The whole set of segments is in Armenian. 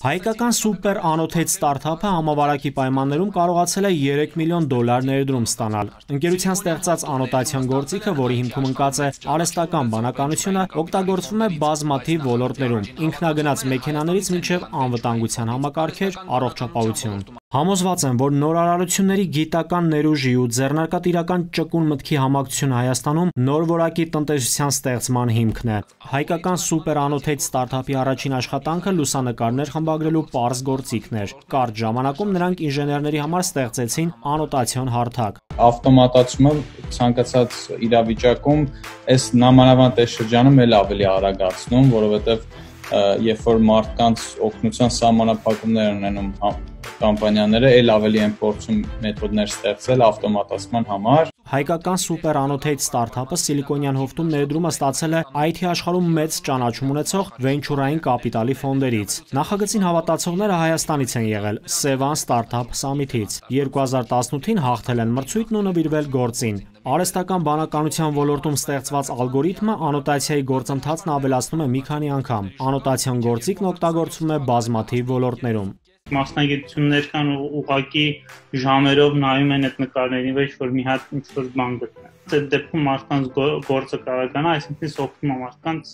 Հայկական սուպեր անոթետ ստարտափը համավարակի պայմաններում կարողացել է $3 միլիոն ներդրում ստանալ։ Ընկերության ստեղծած անոտացիոն գործիքը, որի հիմքում ընկած է արհեստական բանականությունը, օգտագործվում է բազմաթիվ ոլորտներում՝ ինքնագնաց մեքենաներից մինչև անվտանգության համակարգեր, առողջապահություն։ Համոզված եմ, որ նորարարությունների գիտական ներուժի ու ձեռնարկատիրական ճկուն մտքի համակցությունը Հայաստանում նոր որակի տնտեսության ստեղծման հիմքն է։ Հայկական սուպեր անոթետ ստարտափի առաջին աշխատանքը լուսանկարներ խմբագրելու պարզ գործիքն էր։ Կարճ ժամանակում նրանք ինժեներների համար ստեղծեցին անոտացիոն հարթակ։ Ավտոմատացումը ցանկացած իրավիճակում այս նամանավանդ շրջանում էլ ավելի արագացնում, որովհետև երբ որ մարդկանց օգնության սահմանափակումներ ունենում կամպանիաները, էլ ավելի են փորձում մեթոդներ ստեղծել ավտոմատացման համար։ Հայկական սուպեր անոթետ ստարտափը Սիլիկոնյան հովտում ներդրումը ստացել է IT աշխարհում մեծ ճանաչում ունեցող վենչուրային կապիտալի ֆոնդերից։ Նախագծին հավատացողները Հայաստանից են եղել Sevan Startup Summit-ից։ 2018-ին հաղթել են մրցույթն ու նվիրվել գործին։ Արհեստական բանականության ոլորտում ստեղծված ալգորիթմը անոտացիայի գործընթացն ավելացնում է մի քանի անգամ։ Անոտացիոն գործիքն օգտագործվում է բազմաթիվ ոլորտներում։ Մասնագիտություններ կան ու ուղղակի ժամերով նայում են այդ նկարների վրա, որ մի հատ ինչ-որ բան գտնեն։ Այդ դեպքում մարդկանց գործը կարողանա, այսինքն օգնում է մարդկանց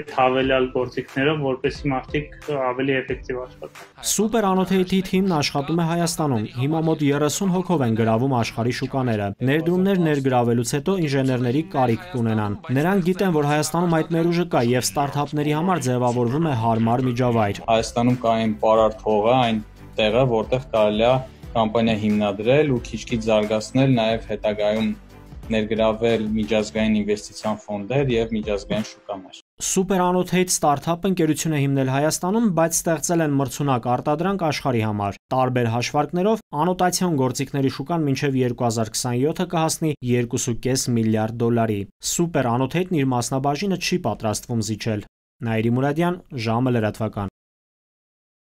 այդ հավելյալ գործիքներով, որպեսզի մարդիկ ավելի էֆեկտիվ աշխատեն։ Սուպեր անոթեյթի թիմն աշխատում է Հայաստանում։ Հիմա մոտ 30 հոգով են գրավում աշխարհի շուկաները։ Ներդրումներ ներգրավելուց հետո ինժեներների կարիք կունենան։ Նրանք գիտեն, որ Հայաստանում այդ ներուժը կա եւ ստարտափների համար ձևավորվում է հարմար միջավայր։ Հայաստանում կա այն պարարտ հողը, այն տեղը, որտեղ կարելի է կամպանիա հիմնադրել ու քիչ-քիչ զարգացնել, նաեւ հետագայում ներգրավել միջազգային ինվեստիցիոն ֆոնդեր եւ միջազգային շուկաներ։ Սուպեր անոթեյթ ստարտափը ընկերություն է հիմնել Հայաստանում, բայց ստեղծել են մրցունակ արտադրանք աշխարհի համար։ Տարբեր հաշվարկներով անոտացիոն գործիքների շուկան մինչև 2027-ը կհասնի $2.5 միլիարդ։ Սուպեր անոթեյթն իր մասնաբաժինը չի պատրաստվում զիջել։ Նաիրի Մուրադյան, ժամը լրատվական։